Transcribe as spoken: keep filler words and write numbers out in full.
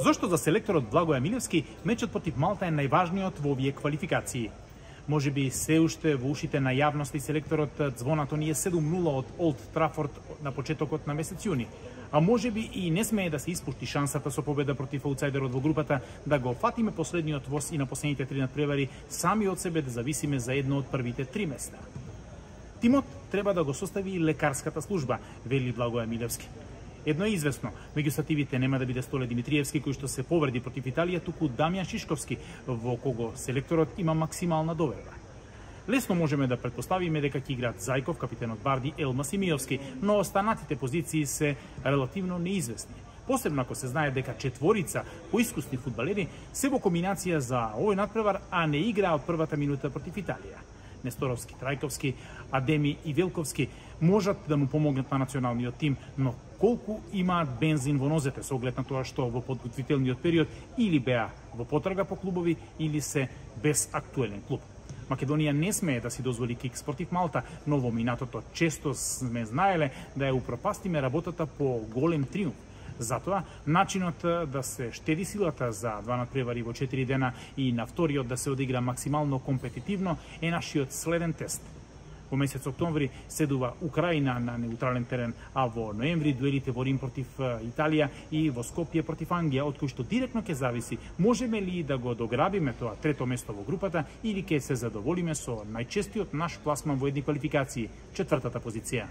Зошто за селекторот Благоја Милевски мечот против Малта е најважниот во овие квалификации? Може би се уште во ушите на јавност и селекторот звонато ни е седум нула од Олд Трафорд на почетокот на месец јуни. А може би и не смее да се испушти шансата со победа против аутсайдерот во групата да го фатиме последниот воз и на последните три надпревари сами од себе да зависиме за едно од првите три места. Тимот треба да го состави и лекарската служба, вели Благоја Милевски. Едно е известно, меѓу стативите нема да биде Столе Димитриевски кој што се повреди против Италија, туку Дамјан Шишковски, во кого селекторот има максимална доверба. Лесно можеме да предпоставиме дека ќе играат Зајков, капитенот Барди, Елма Симиовски, но останатите позиции се релативно неизвестни. Посебно ако се знае дека четворица поискусни фудбалери се во комбинација за овој надпревар, а не играа од првата минута против Италија. Несторовски, Трајковски, Адеми и Велковски можат да му помогнат на националниот тим, но колку имаат бензин во нозете со оглед на тоа што во подготвителниот период или беа во потрага по клубови или се без актуелен клуб. Македонија не смее да си дозволи кикс против Малта, но во минатото често сме знаеле да ја упропастиме работата по голем триумф. Затоа, начинот да се штеди силата за два надпревари во четири дена и на вториот да се одигра максимално компетитивно е нашиот следен тест. Во месец октомври седува Украина на неутрален терен, а во ноември дуелите во Рим против Италија и во Скопје против Англија, од кој што директно ќе зависи можеме ли да го дограбиме тоа трето место во групата или ќе се задоволиме со најчестиот наш пласман во едни квалификации, четвртата позиција.